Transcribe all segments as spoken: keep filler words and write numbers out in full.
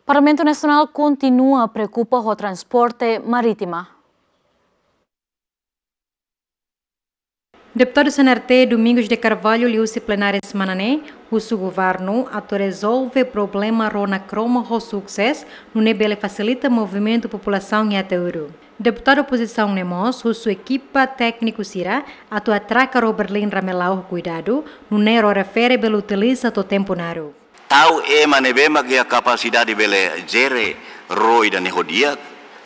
Parlamentu Nasionál kontinua preokupa ho transporte marítima. Deputadu C N R T, Domingos de Carvalho, liuhusi plenária semana ne'e, husu governu atu rezolve problema ró Nakroma ho susesu, nune'e bele fasilita movimentu populasaun iha Ataúru. Deputadu opozisaun ne'e mós husu ekipa tékniku sira atu atraka ró Berlin Ramelau ho kuidadu, nune'e ró refere bele utiliza to'o tempu naruk. Tau ema ne'ebé mak iha kapasidade bele jere ró ida-ne'e ho di'ak,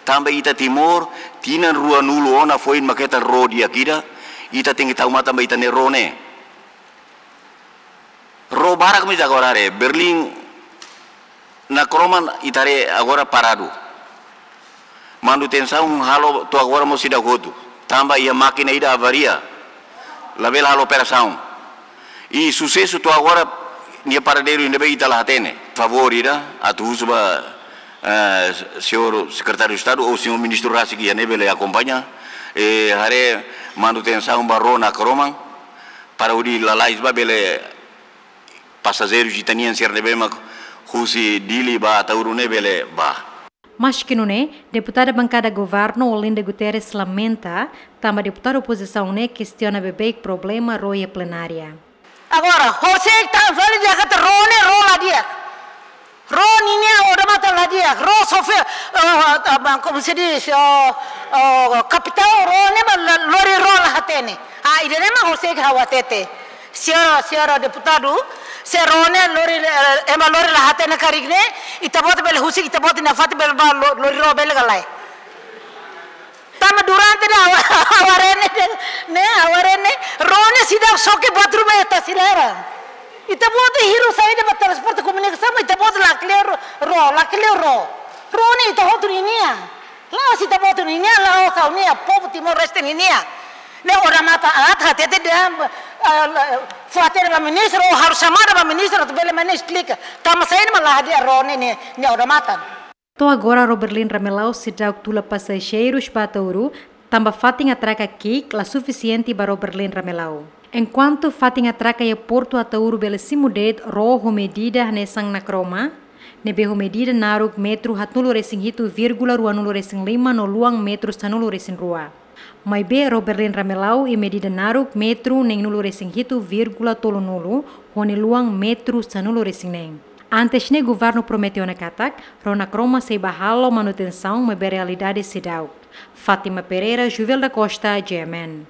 tanba ita Timor, tinan ruanulu ona foin mak hetan ró di'ak ida, ita tenke tau matan ba ita-nia ró ne'e. Ró barak mós agora haree, Berlin Nakroma ita haree agora paradu. Manutensaun halo to'o agora mós seidauk hotu. Tanba iha mákina ida avaria. Labele halo operasaun. I susesu to'o agora nia paradeiru ne'ebé ita la hatene. Favór ida, atu husu ba, eh, señór Sekretáriu Estadu ou señór Ministru rasik iha ne'e bele akompaña. I haree manutensaun ba ró Nakroma. Para hodi lalais ba bele pasajeirus ita-nian sira ne'ebé mak husi Dili ba Ataúru ne'e bele bá. Maski nune'e, deputada bankada governu Olinda Guterres lamenta, tanba deputadu opozisaun ne'e kestiona beibeik problema ró iha plenária. Agora, horiseik ita fali dehan katak ró ne'e ró la di'ak. Ró ninia odamatan la di'ak, ró sofre, eh, eh, como se diz, eh, eh, kapitál ró ne'e mak la, lori ró la hatene. Ah, ida-ne'e mak horiseik ha'u hatete. Señora, señora deputadu, se ró ne'e lori, eh, ema lori la hatene karik ne'e, ita-boot bele husik, ita-boot nia fatin bele bá lo-, lori ró bele ka lae. Tanba durante ne'e ha'u, ha'u haree ne'e, ne'e, ha'u haree ne'e, ró ne'e seidauk xoke buat ruma iha Tasi laran. Ita-boot hirus saida ba transporte komunikasaun, ita-boot lakleur ró, lakleur ró. Ró ne'e ita hotu ninian. La'ós ita-boot ninian, la'ós ha'u-nian, povu Timor-Leste ninian. Ne'e odamatan aat hatete dehan, eh, fó hatene ba ministru, ou halo xamada ba ministru, atu bele ministru esplika. Tanba saida mak la hadi'a ró ne'e, ne'e, ne'e odamatan. To'o agora ró Berlin Ramelau seidauk tula pasajeirus ba Ataúru, tanba fatin atraka ki'ik la sufisiente ba ró Berlin Ramelau. Enkuantu fatin atraka iha portu Ataúru bele simu de'it ró ho medida hanesan Nakroma, ne'ebé ho medida naruk metru haatnulu-resin-hitu vírgula ruanulu-resin-lima no luan metru sanulu-resin-rua. Maibé ró Berlin Ramelau iha medida naruk metru neenulu-resin-hitu vírgula tolunulu, ho nia luan metru sanulu-resin-neen. Antes ne'e governu promete ona katak, ró Nakroma sei bá halo manutensaun maibé realidade seidauk. Fátima Pereira, Juvel da Costa, G M N.